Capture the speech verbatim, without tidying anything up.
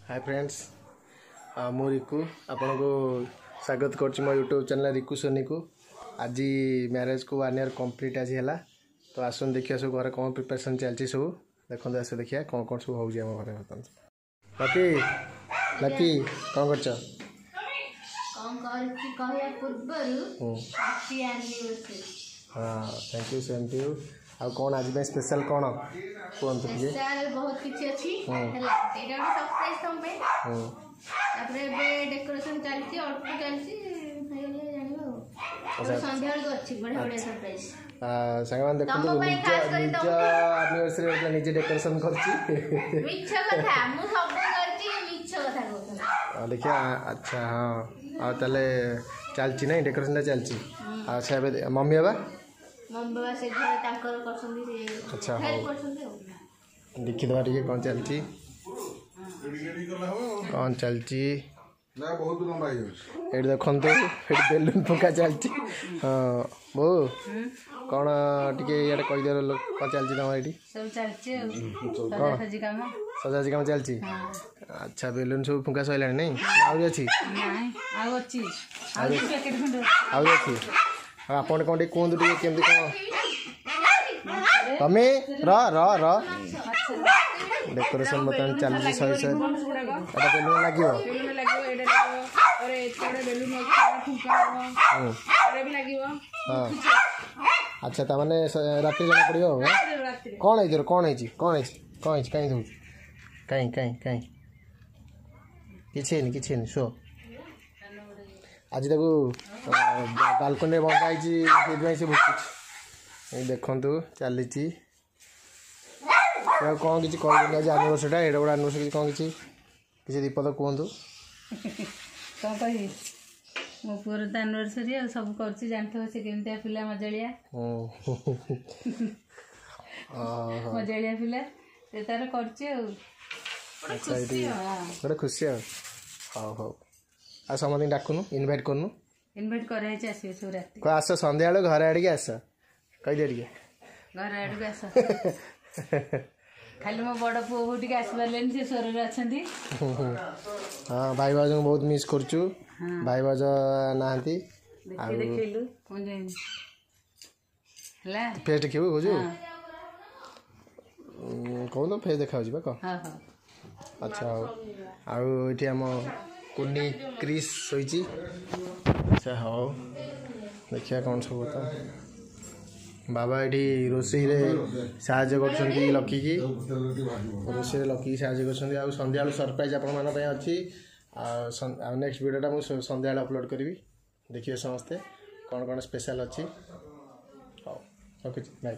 ହାଏ friends, ମୁଁ ରିକୁ ଆପଣଙ୍କୁ ସ୍ୱାଗତ କରୁଛି ମୋ ୟୁଟ୍ୟୁବ୍ ଚ୍ୟାନେଲ୍ ରିକୁ ସୋନିକୁ। ଆଜି ମ୍ୟାରେଜ୍କୁ ୱାନ୍ ଇୟର୍ କମ୍ପ୍ଲିଟ୍ ଆଜି ହେଲା। ତ ଆସନ୍ତୁ ଦେଖିବା ସବୁ ଘରେ କ'ଣ ପ୍ରିପାରେସନ୍ ଚାଲିଛି ସବୁ। ଦେଖନ୍ତୁ, ଆସ ଦେଖିବା କ'ଣ କ'ଣ ସବୁ ହେଉଛି ଆମ ଘରେ ବର୍ତ୍ତମାନ। ଲକି, ଲକି, କ'ଣ କରୁଛ? କଣ କରୁଛି କହିବା ପୂର୍ବରୁ, ହାପି ଆନିଭର୍ସରୀ। ହଁ, thank you, same to you. ଆଉ କ'ଣ ଆଜି ପାଇଁ ସ୍ପେଶାଲ୍ କ'ଣ କୁହନ୍ତୁ ଟିକେ। ସ୍ପେଶାଲ ବହୁତ କିଛି ଅଛି। ହୁଁ। ହେଲା, ଏଇଟା ଗୋଟେ ସରପ୍ରାଇଜ ତମ ପାଇଁ। ହୁଁ ତାପରେ ଏବେ ଡେକୋରେସନ ଚାଲିଛି, ଅଳ୍ପ ଚାଲିଛି, ହେଇଗଲେ ଜାଣିବ ଆଉ। ଆଚ୍ଛା। ଏବେ ସନ୍ଧ୍ୟାବେଳକୁ ଅଛି ବଢିଆ ବଢିଆ ସରପ୍ରାଇଜ। ଆ, ସାଙ୍ଗମାନେ ଦେଖନ୍ତୁ, ତମ ପାଇଁ ନିଜ ଖାସ୍ କରି। ନିଜ ଆନିଭର୍ସରୀ ନିଜେ ଡେକୋରେସନ୍ କରୁଛି। ମିଛ କଥା, ମୁଁ ସବୁ କରିଛି, ମିଛ କଥା କହୁଛନ୍ତି। ଆଉ ଦେଖିବା। ଆଚ୍ଛା, ହଁ, ଆଉ ତାହେଲେ ଚାଲିଛି ନାଇଁ, ଡେକୋରେସନଟା ଚାଲିଛି। ଆଚ୍ଛା, ଏବେ ମମି ବାବା? ମମି ବାବା ସେ ଘରେ ତାଙ୍କର କରୁଛନ୍ତି ସେ। ଆଚ୍ଛା, ହଉ। ହେଲ୍ପ କରୁଛନ୍ତି ଆଉ। ଦେଖିଦେବା ଟିକେ କ'ଣ ଚାଲିଛି, କ'ଣ ଚାଲିଛି। ନା, ବହୁତ ଲମ୍ବା ହେଇଯାଉଛି। ଏଇଠି ଦେଖନ୍ତୁ, ଏଠି ବେଲୁନ ଫୁଙ୍କା ଚାଲିଛି। ହଁ ବୋଉ, କ'ଣ ଟିକେ ଇଆଡ଼େ କହିଦିଅ, କ'ଣ ଚାଲିଛି ତମର ଏଇଠି? ସବୁ ଚାଲିଛି ଆଉ ସଜାସଜି କାମ। ସଜାସଜି କାମ ଚାଲିଛି। ଆଚ୍ଛା, ବେଲୁନ ସବୁ ଫୁଙ୍କା ସରିଲାଣି ନାଇଁ, ନା ଆହୁରି ଅଛି? ନାଇଁ, ଆଉ ଅଛି, ଆଉ ଦି ପ୍ୟାକେଟ ଖଣ୍ଡେ ଅଛି। ଆହୁରି ଅଛି। ଆଉ ଆପଣ କ'ଣ ଟିକେ କୁହନ୍ତୁ ଟିକେ, କେମିତି କ'ଣ ତମେ ର ର ର ଡେକୋରେସନ ବର୍ତ୍ତମାନ ଚାଲିଛି ଶହେ ଶହେ। ଏଟା ବେଲୁନ ଲାଗିବ? ବେଲୁନ ଲାଗିବ, ଏଇଟା ଲାଗିବ, ତାପରେ ଏତେ ଗୁଡେ ବେଲୁନ ଅଛି, ଏଇଟା ଫୁଙ୍କା ହବ। ହୁଁ ଏଇଟା ବି ଲାଗିବ। ହଁ, ଆଚ୍ଛା, ତାମାନେ ସ- ରାତିରେ ଜଣା ପଡ଼ିବ ଆଉ, ଆଁ? ରାତିରେ। କ'ଣ ହେଇଛି ତୋର? କ'ଣ ହେଇଛି? କ'ଣ ହେଇଛି? କ'ଣ ହେଇଛି? କାହିଁ ଦଉଛୁ? କାହିଁ କାହିଁ କାହିଁ? କିଛି ହେଇନି, କିଛି ହେଇନି, ଶୁଅ। ଆଜି ତାକୁ ବାଲକୋନିରେ ବନ୍ଧା ହେଇଛି, ସେଇଥିପାଇଁ ସେ ଭୁକୁଛି। ଏଇ ଦେଖନ୍ତୁ, ଚାଲିଛି। ଆଉ କ'ଣ କିଛି କହିବେନି? ଆଜି ଆନିଭର୍ସରୀଟା, ଏଇଟା ଗୋଟେ ଆନିଭର୍ସରୀ, କିଛି କ'ଣ କିଛି କିଛି ଦୁଇପଦ କୁହନ୍ତୁ। କଣ କହିବି? ମୋ ପୁଅର ତ ଆନିଭର୍ସରୀ ଆଉ ସବୁ କରୁଛି, ଜାଣିଥିବ ସେ କେମିତିଆ ପିଲା, ମଜାଳିଆ। ହୁଁ ଓହୋ ମଜାଳିଆ ପିଲା, ସେ ତାର କରୁଛି ଆଉ। ଆଚ୍ଛା, ଏଇଠି ଗୋଟେ ଖୁସି ଆଉ। ହଉ ହଉ, ଆଉ ସମସ୍ତଙ୍କୁ ଡାକୁନୁ, ଇନଭାଇଟ୍ କରୁନୁ। ଇନଭାଇଟ୍ କରାହେଇଛି, ଆସିବେ ସବୁ ରାତି। କହ ଆସ, ସନ୍ଧ୍ୟାବେଳୁ ଘରେ ଆଡ଼ିକି ଆସ, କହିଦିଅ ଟିକେ। ଘର ଆଡ଼କୁ ଆସ। ଖାଲି ମୋ ବଡ଼ ପୁଅ ବୋହୂ ଟିକେ ଆସିପାରିଲେନି, ସେ ସ୍ୱରରେ ଅଛନ୍ତି। ହଁ, ଭାଇ ଭାଉଜଙ୍କୁ ବହୁତ ମିସ୍ କରୁଛୁ, ଭାଇ ଭାଉଜ ନାହାନ୍ତି। ଦେଖି ଦେଖେଇଲୁ ମୁଁ ଯାଇନି ହେଲା। ଫେସ୍ ଦେଖିବୁ କହୁଛୁ? କହୁନୁ, ଫେସ୍ ଦେଖାଯାଉଛି ବା, କହ। ହଁ ହଁ ଆଚ୍ଛା, ହଉ। ଆଉ ଏଇଠି ଆମ କୁନି କ୍ରିସ୍ ଶୋଇଛି। ଆଚ୍ଛା, ହଉ, ଦେଖିବା କ'ଣ ସବୁ କଥା। ବାବା ଏଠି ରୋଷେଇରେ ସାହାଯ୍ୟ କରୁଛନ୍ତି ଲକିକି, ରୋଷେଇରେ ଲକିକି ସାହାଯ୍ୟ କରୁଛନ୍ତି। ଆଉ ସନ୍ଧ୍ୟାବେଳୁ ସରପ୍ରାଇଜ୍ ଆପଣମାନଙ୍କ ପାଇଁ ଅଛି। ଆଉ ସନ୍- ଆଉ ନେକ୍ସଟ ଭିଡ଼ିଓଟା ମୁଁ ସ- ସନ୍ଧ୍ୟାବେଳେ ଅପଲୋଡ଼ କରିବି, ଦେଖିବେ ସମସ୍ତେ କ'ଣ କ'ଣ ସ୍ପେଶାଲ୍ ଅଛି। ହଉ, ରଖୁଛି, ବାଏ।